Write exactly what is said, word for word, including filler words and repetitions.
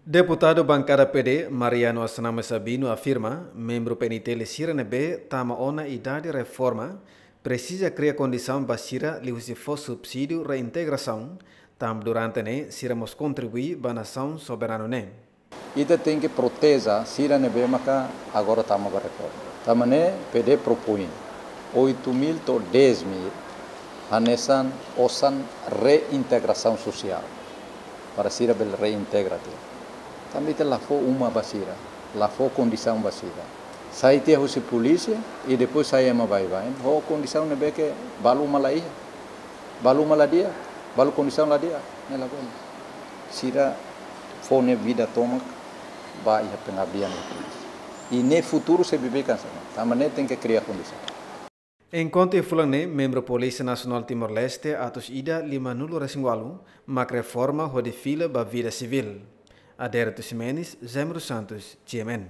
Deputadu Bankada P D, Mariano Asnama Sabino afirma, membru P N T L sira ne'ebé tama ona idade reforma, presiza kria kondisaun ba sira liuhusi fó subsídiu reintegrasaun, tanba durante ne'e sira mós kontribui ba nasaun soberanu ne'e. Ita tenke proteje sira ne'ebé maka agora tama ba reforma. Tanba ne'e P D propoin oito mil to'o dez mil hanesan osan reintegrasaun sosiál. Para sira bele reintegra tiha. Tanba ita la fó uma ba sira, la fó kondisaun ba sira. Sai tiha husi polísia i depois sai ema baibain ho kondisaun ne'ebé ke balu uma la iha. Balu uma la di'ak, balu kondisaun la di'ak, ne'e la bele. Sira fó nia vida tomak ba iha pengabdian ba polísia. I nia futuru sei beibeik hanesan ne'e. Tanba ne'e tenke kria kondisaun. Enkuantu iha fulan ne'e, membru Polísia Nasionál Timor-Leste atus ida lima-nulu resin ualu mak reforma hodi fila ba vida sivíl. Adérito Ximenes, Zemro Santos, G M N.